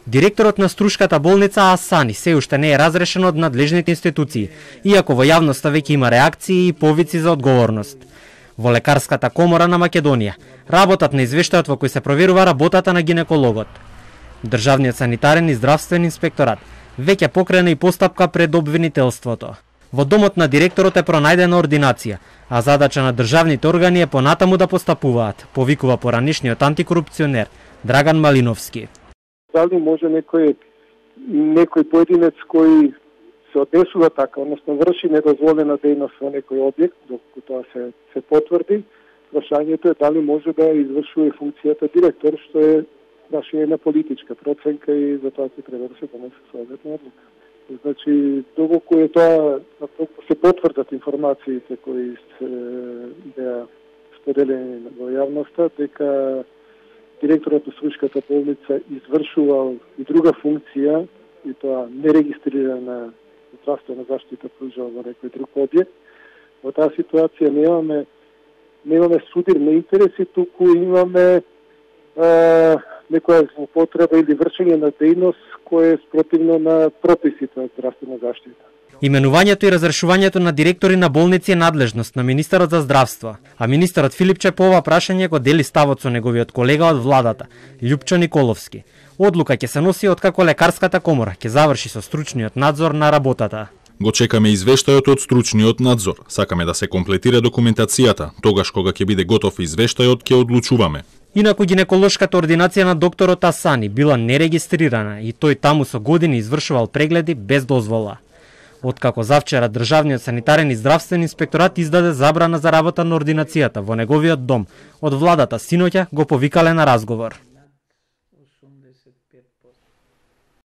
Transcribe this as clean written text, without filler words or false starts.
Директорот на Струшката болница Асани се уште не е разрешен од надлежните институции, иако во јавноста веќе има реакции и повици за одговорност. Во Лекарската комора на Македонија работат на извештајот во кој се проверува работата на гинекологот. Државниот санитарен и здравствен инспекторат веќе покрена и постапка пред обвинителството. Во домот на директорот е пронајдена ординација, а задача на државните органи е понатаму да постапуваат, повикува поранишниот антикорупционер Драган Малиновски. Дали може некој поединец кој се однесува така, односно врши недозволена дејност во некој објект, докато тоа се потврди, прашањето е дали може да извршува функцијата директор, што е прашање на политичка проценка и за тоа ќе треба да се донесе соодветна одлука. Значи, доколку е тоа, доколку се потврдат информациите кои се беа споделени во јавноста, дека директорот на Струшката болница извршувал и друга функција, и тоа нерегистрирана здравствена заштита пружал во некој друг објект. Во таа ситуација немаме судир на интереси, туку имаме некоја злоупотреба или вршење на дејност која е спротивно на прописите од здравствена заштита. Именувањето и разрешувањето на директори на болници е надлежност на министерот за здравство, а министерот Филипче по ова прашање го дели ставот со неговиот колега од владата, Љупчо Николовски. Одлука ќе се носи откако Лекарската комора ќе заврши со стручниот надзор на работата. Го чекаме извештајот од стручниот надзор. Сакаме да се комплетира документацијата. Тогаш кога ќе биде готов извештајот, ќе одлучуваме. Инаку гинеколошката ординација на докторот Асани била нерегистрирана и тој таму со години извршувал прегледи без дозвола. Откако завчера државниот санитарен и здравствен инспекторат издаде забрана за работа на ординацијата во неговиот дом, од владата синоќа го повикале на разговор.